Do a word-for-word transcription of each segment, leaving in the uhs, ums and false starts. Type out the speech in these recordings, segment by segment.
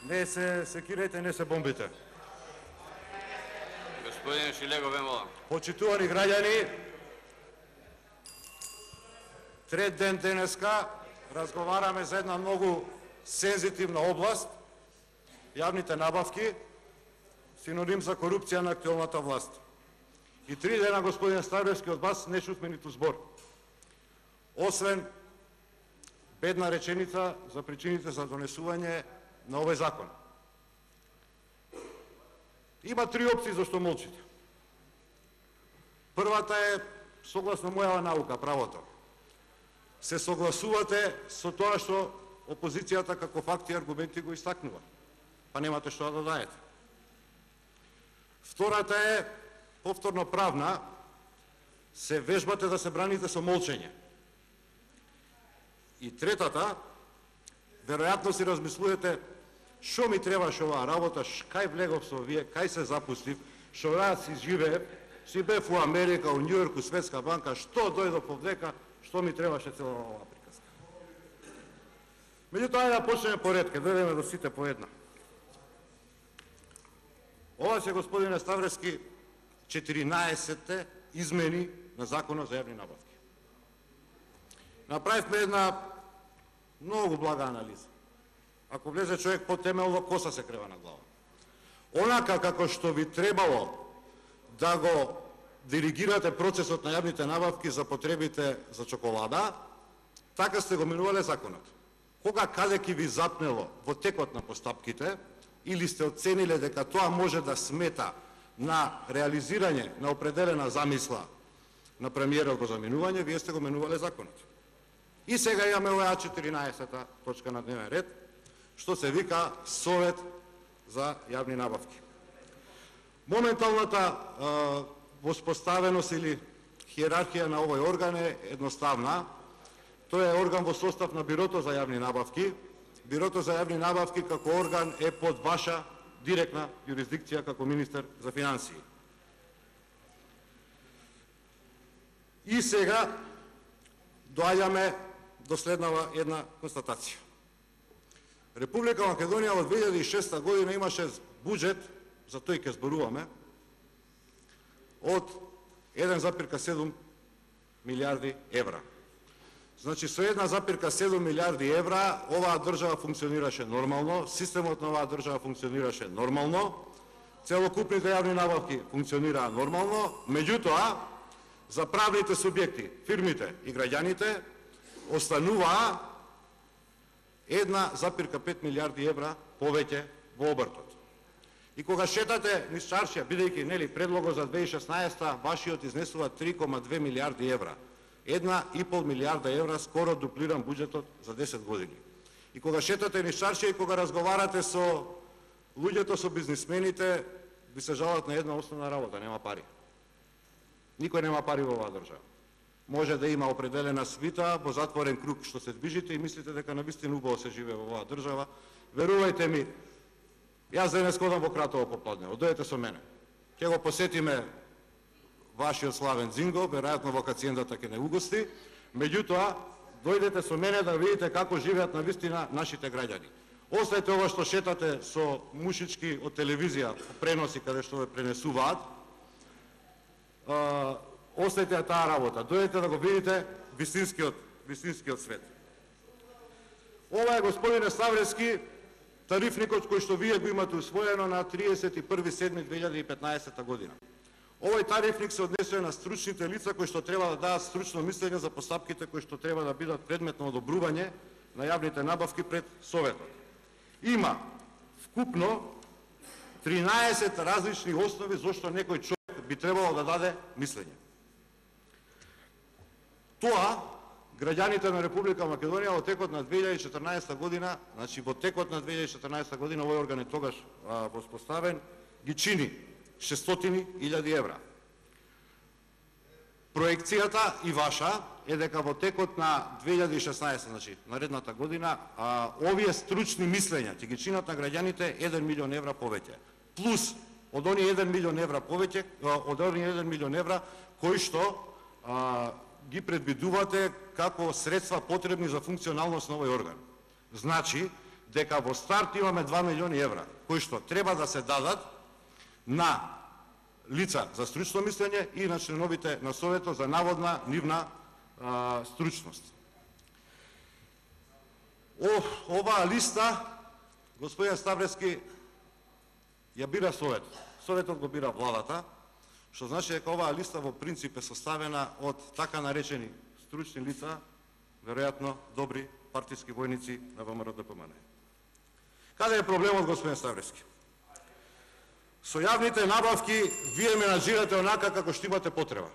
Не се секирајте, не се бомбите. Господин Шилегов, ве молам. Почитувани граѓани, трет ден денеска разговараме за една многу сензитивна област, јавните набавки, синоним за корупција на актуелната власт. И три дена, господин Ставлевски, од вас не чувме ниту збор. Освен бедна реченица за причините за донесување на овој закон. Има три опции зашто молчите. Првата е согласно мојава наука, правото. Се согласувате со тоа што опозицијата како факти и аргументи го истакнува. Па немате што да додаете. Втората е повторно правна, се вежбате да се браните со молчење. И третата, веројатно си размислувате што ми требаше оваа работа, кај влегов со вие, кај се запустив, што јас си живеев, си бев у Америка, у Њујорк, у Светска банка, што дојдов повдека, што ми требаше цела оваа приказка. Меѓутоа, ајде да почнеме по ред, ке дојдеме до сите по една. Ова се, господине Ставрески, четиринаесетте измени на Законот за јавни набавки. Направивме една многу блага анализа. Ако влезе човек по-темелно, коса се крева на глава. Онака како што ви требало да го диригирате процесот на јавните набавки за потребите за чоколада, така сте го менувале законот. Кога каде ќе ви запнело во текот на постапките, или сте оцениле дека тоа може да смета на реализирање на определена замисла на премиерот за менување, вие сте го менувале законот. И сега имаме оваа четиринаесета точка на дневен ред, што се вика Совет за јавни набавки. Моменталната е, воспоставеност или хиерархија на овој орган е едноставна. Тој е орган во состав на Бирото за јавни набавки. Бирото за јавни набавки како орган е под ваша директна юрисдикција како министер за финансии. И сега доаѓаме до следнава една констатација. Република Македонија во две илјади и шеста година имаше буџет, за тој ќе зборуваме, од еден запирка седум милиарди евра. Значи, со една запирка седум милиарди евра, оваа држава функционираше нормално, системот на оваа држава функционираше нормално, целокупните јавни набавки функционираа нормално, меѓутоа, за правните субјекти, фирмите и граѓаните, остануваа една запирка пет милиарди евра повеќе во обртот. И кога шетате низ чаршија, бидејќи нели предлогот за две илјади и шеснаесета, вашиот изнесува три кома две милиарди евра. Една и пол милиарда евра, скоро дуплиран буџетот за десет години. И кога шетате низ чаршија и кога разговарате со луѓето, со бизнисмените, ви се жалат на една основна работа, нема пари. Никој нема пари во оваа држава. Може да има определена свита во затворен круг што се движите и мислите дека навистина убаво се живее во оваа држава. Верувајте ми, јас денес ходам во Кратово попладне, дојдете со мене. Ќе го посетиме вашиот славен Зинго, веројатно вакациендата ќе не угости, меѓутоа, дојдете со мене да видите како живеат навистина нашите граѓани. Оставете ова што шетате со мушички од телевизија, преноси каде што ве пренесуваат, оставете таа работа, дојдете да го видите вистинскиот, вистинскиот свет. Ова е, господине Ставрески, тарифникот кој што вие го имате усвоено на триесет и први седми две илјади и петнаесета година. Овој тарифник се однесува на стручните лица кои што треба да дадат стручно мислење за постапките кои што треба да бидат предмет на одобрување на јавните набавки пред Советот. Има вкупно тринаесет различни основи зашто некој човек би требало да даде мислење. Тоа, граѓаните на Република Македонија во текот на две илјади и четрнаесета година, значи во текот на две илјади и четрнаесета година, овој орган е тогаш а, воспоставен, ги чини шестстотини илјади евра. Проекцијата и ваша е дека во текот на две илјади и шеснаесета, значи наредната година, а, овие стручни мислења ќе ги чинат на граѓаните еден милион евра повеќе. Плюс од оние еден милион евра повеќе, од оние еден милион евра кои што а, ги предвидувате како средства потребни за функционалност на овој орган. Значи, дека во старт имаме два милиони евра, кои што треба да се дадат на лица за стручно мислење и на членовите на Советот за наводна нивна а, стручност. О, оваа листа, господин Ставрески, ја бира Совет. Советот го бира владата, што значи дека оваа листа во принцип е составена од така наречени стручни лица, веројатно добри партиски војници на ВМРО Д П М Н. Каде е проблемот, господин Ставрески? Со јавните набавки вие менаџирате онака како што имате потреба.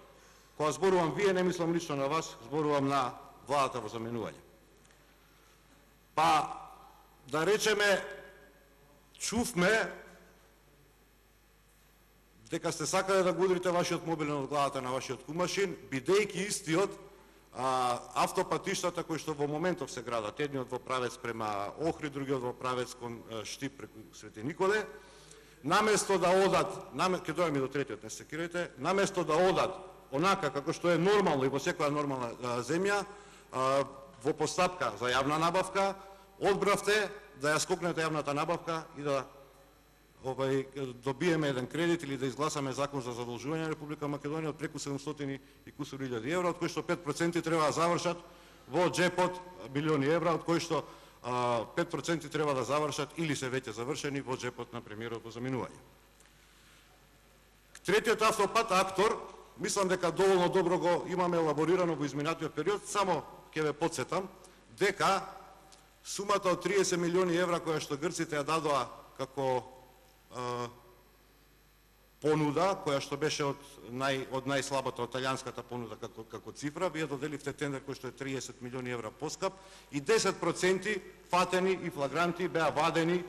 Кога зборувам вие, не мислам лично на вас, зборувам на владата во заменување. Па, да речеме, чувме дека сте сакале да го удрите вашиот мобилен од главата на вашиот кумашин, бидејќи истиот а, автопатиштата кои што во моментов се градат, едниот во правец према Охрид, другиот во правец кон Штип преку Свети Николе, наместо да одат, наме, ке дојдеме до третиот, не се кирайте, наместо да одат онака како што е нормално и во секоја нормална а, земја, а, во постапка за јавна набавка, одбравте да ја скокнете јавната набавка и да Обај, добиеме еден кредит или да изгласаме закон за задолжување на Република Македонија од преку седумстотини и кусур илјади евра, од кои што пет проценти треба да завршат во джепот милиони евра, од кои што а, пет проценти треба да завршат или се веќе завршени во джепот на премиерот во заминување. Третиот автопат Актор, мислам дека доволно добро го имаме елаборирано во изминатиот период, само ќе ве потсетам дека сумата од триесет милиони евра која што грците ја дадоа како понуда, која што беше од нај од најслабата, од италијанската понуда како како цифра, вие доделивте тендер кој што е триесет милиони евра поскап и десет проценти фатени и флагранти беа вадени,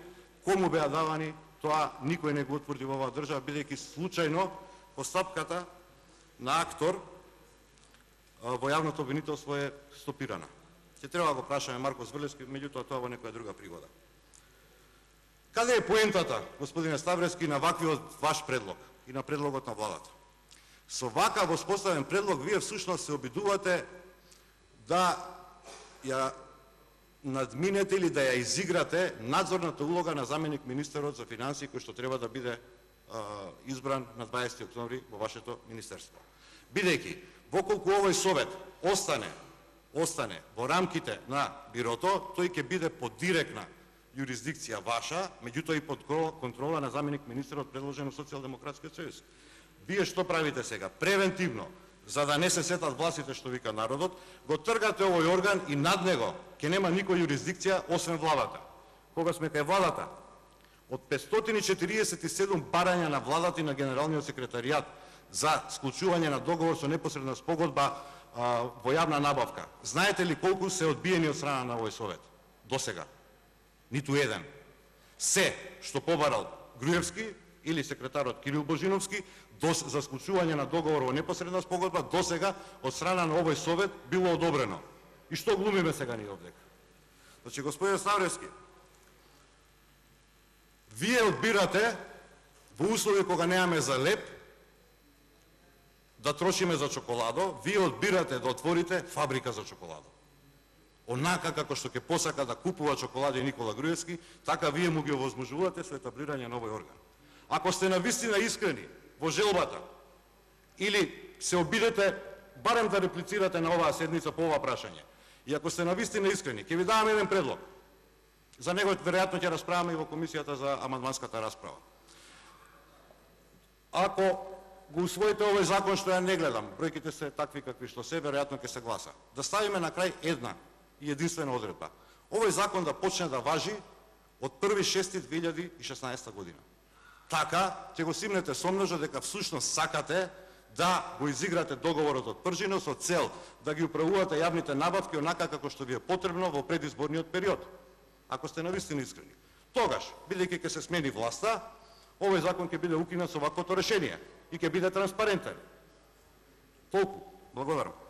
кому беа давани, тоа никој не го утврди во оваа држава, бидејќи случајно постапката на Актор во јавното обвинителство е стопирана. Ќе треба да го прашаме Марко Зврлевски, меѓутоа тоа во некоја друга пригода. Каде е поентата, господине Ставрески, на ваквиот ваш предлог и на предлогот на владата? Со вака воспоставен предлог, вие всушност се обидувате да ја надминете или да ја изиграте надзорната улога на заменик министерот за финансии, кој што треба да биде а, избран на дваесети октомври во вашето министерство. Бидејќи, воколку овој совет остане, остане во рамките на бирото, тој ќе биде под директна юрисдикција ваша, меѓутоа и под контрола на заменик министерот предложен од Социјалдемократскиот сојуз. Вие што правите сега? Превентивно, за да не се сетат властите што вика народот, го тргате овој орган и над него ќе нема никоја юрисдикција освен владата. Кога сме кај владата, од петстотини и четириесет и седум барања на владата и на генералниот секретаријат за склучување на договор со непосредна спогодба а, во јавна набавка, знаете ли колку се одбиени од страна на овој совет? До сега. Ниту еден. Се што побарал Груевски или секретарот Кирил Божиновски за склучување на договор во непосредна спогодба до сега од страна на овој совет било одобрено. И што глумиме сега ние овдека? Значи, господин Ставрески, вие одбирате во услови кога немаме за леп да трошиме за чоколадо, вие одбирате да отворите фабрика за чоколадо. Онака како што ќе посака да купува чоколади Никола Груевски, така вие му ги овозможувате со етаблирање на овој орган. Ако сте навистина искрени во желбата, или се обидете барем да реплицирате на оваа седница по ова прашање, и ако сте навистина искрени, ќе ви давам еден предлог. За него веројатно ќе расправаме и во комисијата за амандманската расправа. Ако го усвоите овој закон што ја не гледам, бројките се такви какви што се, веројатно ќе се гласа. Да ставиме на крај една и единствена одредба. Овој закон да почне да важи од први шести две илјади и шеснаесета година. Така ќе го симнете сомножа дека всушност сакате да го изиграте договорот од пржина со цел да ги управувате јавните набавки онака како што ви е потребно во предизборниот период. Ако сте навистина искрени. Тогаш, бидејќи ќе се смени власта, овој закон ќе биде укинат со ваквото решение и ќе биде транспарентен. Толку. Благодарам.